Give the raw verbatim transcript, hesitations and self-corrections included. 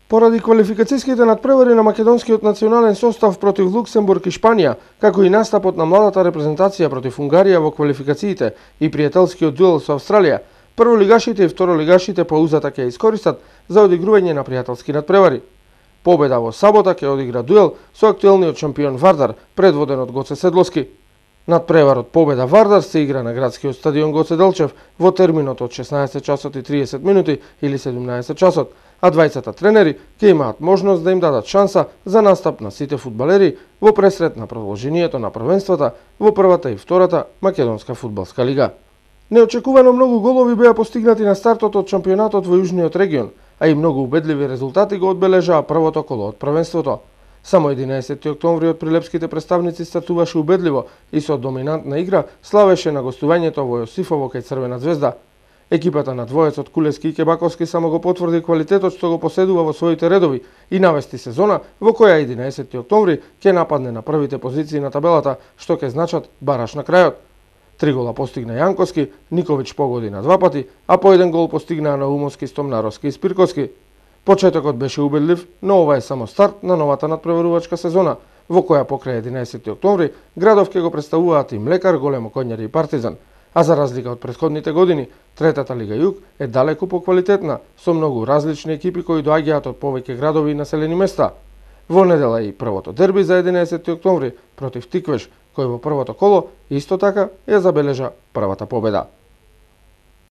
Поради квалификацијските надпревари на македонскиот национален состав против Луксембург и Шпанија, како и настапот на младата репрезентација против Унгарија во квалификациите и пријателскиот дуел со Австралија, прволигашите и второлигашите по узата ќе искористат за одигрување на пријателски надпревари. Победа во сабота ќе одигра дуел со актуелниот шампион Вардар, предводен од Гоце Седловски. Надпреварот Победа Вардар се игра на градскиот стадион Гоце Делчев во терминот од шеснаесет часот и триесет минути или седумнаесет часот, а двајцата тренери ќе имаат можност да им дадат шанса за настап на сите фудбалери во пресрет на продолжението на првенствата во првата и втората македонска фудбалска лига. Неочекувано многу голови беа постигнати на стартот од шампионатот во Јужниот регион, а и многу убедливи резултати го одбележаа првото коло од првенството. Само единаесети октомври од прилепските представници стартуваше убедливо и со доминантна игра славеше на гостувањето во Јосифово кај Црвена звезда. Екипата на двоецот Кулески и Кебаковски само го потврди квалитетот што го поседува во своите редови и навести сезона во која единаесети октомври ќе нападне на првите позиции на табелата, што ќе значат бараш на крајот. Три гола постигна Јанковски, Никовиќ погоди на два пати, а по еден гол постигнаа Наумовски, Стомнаровски и Спирковски. Почетокот беше убедлив, но ова е само старт на новата надпреварувачка сезона, во која покрај единаесети октомври градов ќе го представуваат и Млекар, Големо Конјари и Партизан. А за разлика од претходните години, третата Лига Југ е далеку поквалитетна, со многу различни екипи кои доаѓаат од повеќе градови и населени места. Во недела и првото дерби за единаесети октомври против Тиквеш, кој во првото коло исто така ја забележа првата победа.